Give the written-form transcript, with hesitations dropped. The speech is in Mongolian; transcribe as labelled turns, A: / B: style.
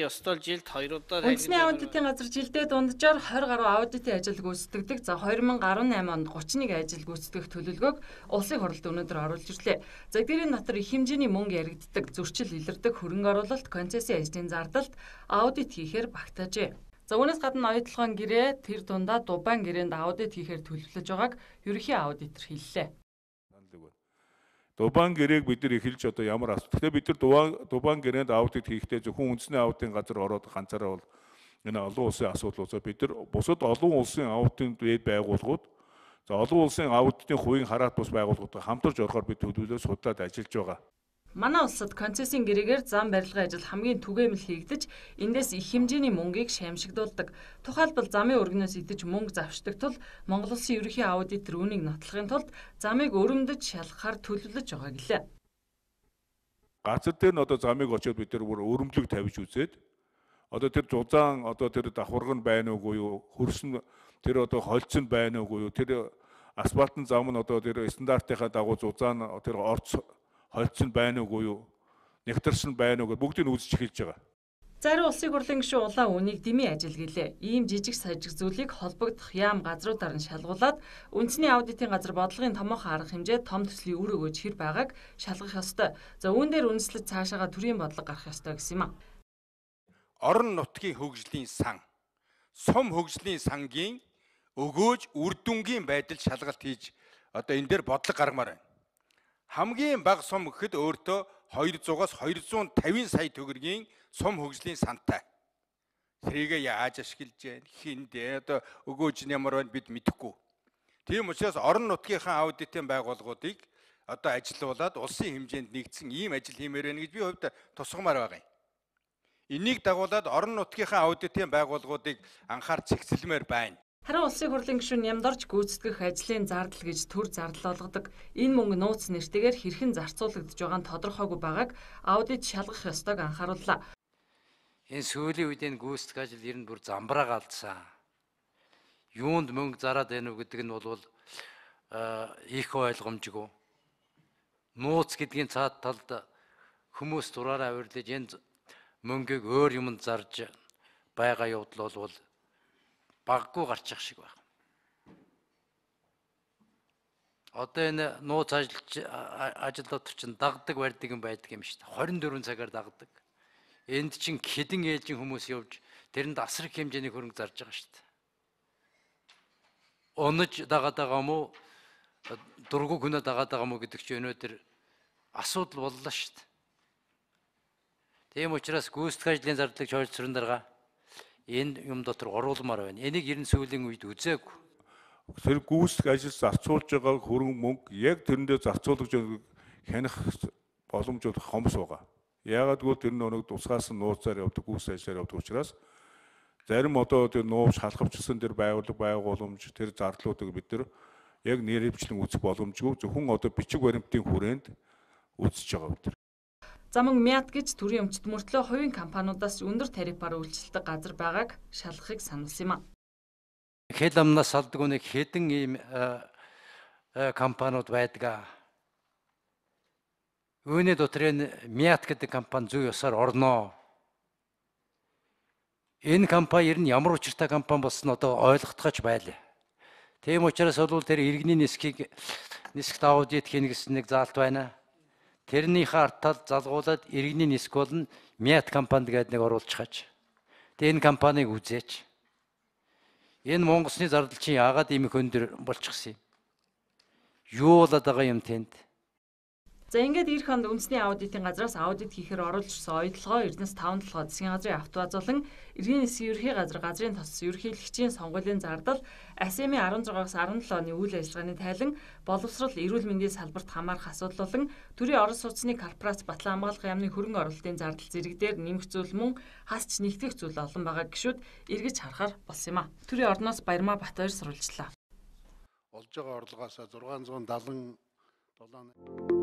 A: ёстой жилд 2 удаа
B: Үндэсний аудитын газар жилдээ дунджаар 20 гаруй аудитын ажил гүйцэтгэдэг. За 2018 онд 31 ажил гүйцэтгэх төлөвлөгөөг улсын хурлд өнөөдөр оруулж ирлээ. За эдгээрийн дотор их хэмжээний мөнгө яригддаг, зөрчил илэрдэг хөрөнгө оруулалт, концессийн ажлын зардалд аудит хийхээр багтаажээ. За үүнээс гадна оюутлогын гэрээ тэр дундаа Дубайн гэрээнд аудит хийхээр төлөвлөж байгааг ерөнхий аудитор хэллээ.
C: Дубайн гэрээг бид нар эхэлж одоо ямар асуу. Тэгэхээр бид нар Дубайн гэрээнд аудит хийхдээ зөвхөн үндэсний аудитын газар ороод ганцаараа бол энэ олон улсын асуудал усаа бид нар бусад олон улсын аудитын байгууллагууд за олон улсын аудитын хувийн хараат бус байгууллагуудтай хамтарч орохоор бид төлөвлөлөө судлаад ажиллаж байгаа.
B: Манай улсад концессийн гэрээгээр зам барилгын ажил хамгийн түгээмэл хийгдэж, эндээс их хэмжээний мөнгийг шаимшигдуулдаг. Тухайлбал замын өргөнөөс идэж мөнгө завшдаг тул Монгол улсын ерөнхий аудитор үүнийг нотлохын тулд замыг өрөмдөж шалгахаар төлөвлөж байгаа гэлээ.
C: Газар дээр нь одоо замыг очиод бид нар бүр өрөмдлөг тавьж үзээд одоо тэр зузаан одоо тэр давхарга нь байна уугүй юу, хөрс нь тэр одоо холц нь байна уугүй юу, тэр асфальтын зам нь одоо тэр стандартынхаа дагуу зузаан тэр орц холц нь байна уугүй юу, нэгтэрс нь байна уугүй бүгдийг нь үзэж эхэлж байгаа.
B: Зарим улсын хурлын гишүүн улаан үнийг дэмий ажил гэлээ. Ийм жижиг сажиг зүйлийг холбогдох яам газруудаар нь шалгуулад үндэсний аудитын газар бодлогын томоохон арга хэмжээ том төслийн үр өгөөж хэр байгааг шалгах ёстой. За үүн дээр үндэслэж цаашаага төрийн бодлого гарах ёстой гэсэн юм а.
D: Орон нутгийн хөгжлийн сан, сум хөгжлийн сангийн өгөөж үр дүнгийн байдал шалгалт хийж одоо энэ дээр бодлого гаргамаар байна. Хамгийн бага сум гэхэд өөртөө 200-аас 250 сая төгрөгийн сум хөгжлийн сантай. Тэрийг яаж ашиглаж байна? Хиндэ одоо өгөөж нь ямар байна бид мэдэхгүй. Тийм учраас орон нутгийнхаа аудитын байгууллагуудыг одоо ажилуулад улсын хэмжээнд нэгдсэн ийм ажил хиймээр байна гэж би хувьд тусгамаар байгаа юм. Энийг дагуулад орон нутгийнхаа аудитын байгууллагуудыг анхаарч зэгцэлмээр байна.
B: Харин улсын хурлын гишүүн Нямдарч гүйцэтгэх ажлын зардал гэж төр зардал олгодог. Энэ мөнгө нууц нэртэйгээр хэрхэн зарцуулагдж байгаа нь тодорхойгүй байгааг аудит шалгах ёстойг анхаарууллаа.
E: Энэ сүүлийн үед энэ гүйцэтгэх ажил ер нь бүр замбраа галдсан. Юунд мөнгө зараад байна уу гэдэг нь бол их ойлгомжгүй. Нууц гэдгийн цаад талд хүмүүс дураараа авирлаж энэ мөнгийг өөр юмд зарж байгаа явдал бол баггүй гарчих шиг байна. Одоо энэ нууц ажилтнууд чинь дагдаг барьдаг юм байдаг юм шүү дээ. 24 цагаар дагдаг. Энд чинь хэдэн ээлжийн хүмүүс явж тэрэнд асар их хэмжээний хөрөнгө зарж байгаа шүү дээ. Онож дагаад байгаа мó дургу хүнэ дагаад байгаа мó гэдэг чинь өнөөдөр асуудал боллоо шүү дээ. Тийм учраас гүйцэтгэх ажлын зардлыг чойрцрон дарга энэ юм дотор оруулмаар байна. Энийг ер нь сүүлийн үед үзээгүй.
C: Тэр гүйцэтгэх ажил зарцуулж байгаа хөрөнгө мөнгө яг тэрэндээ зарцуулж байгааг хянах боломжууд хомс байгаа. Яагаад гэвэл тэр нэг тусгаас нь нууцаар явдаг гүйцэтгэх ажлаар явдаг учраас зарим одоо тэр нууц шалхавчсан тэр байгууламж тэр зардлуудыг бид нар яг нэрвчлэн үзэх боломжгүй зөвхөн одоо бичиг баримтын хүрээнд үзэж байгаа бид нар.
B: Заман Мят гэж төрийн өмчт мөртлөө хувийн компаниудаас өндөр тарифаар үйлчилдэг газар байгааг шалгахыг сануулсан юм а.
E: Хэл амнаас салдаг нэг хэдэн ийм компаниуд байдаг. Үүний дотор энэ Мят гэдэг компани зөв ёсоор орноо. Энэ компани ер нь ямар учиртай компани болсон одоо ойлгохдогч байлаа. Тийм учраас бол тэр иргэний нисгт аудит хийнэ гэсэн нэг заалт байна. Тэрнийхээ артал залгуулад иргэний ниск болон Мят компанид гэдэг нэг оруулчихаач. Тэгээ энэ компанийг үзээч. Энэ Монголсны зардал чинь яагаад ийм их өндөр болчихсон юм? Юу болоод байгаа юм тэнд?
B: За ингээд эх хонд үндэсний аудитын газраас аудит хийхээр оруулжсан оюутлогоо Эрдэнэс 5 толгой засгийн газрын автовазуулан иргэний нисгийн ерхий газар газрын тос ерөнхийлөгчийн сонгуулийн зардал АСМ-ийн 16-аас 17 оны үйл ажиллагааны тайлан боловсрол эрүүл мэндийн салбарт хамаарах асуудал болон төрийн орон сууцны корпорац батлан хамгаалах яамны хөрөнгө оруулалтын зардал зэрэг дээр нэмэх зүйл мөн хасч нэгтгэх зүйл олон байгаа гişүүд эргэж харахаар болсон юм а. Төрийн орноос Баярмаа Батбаяр сурвалжлаа.
F: Олж байгаа орлогоос 677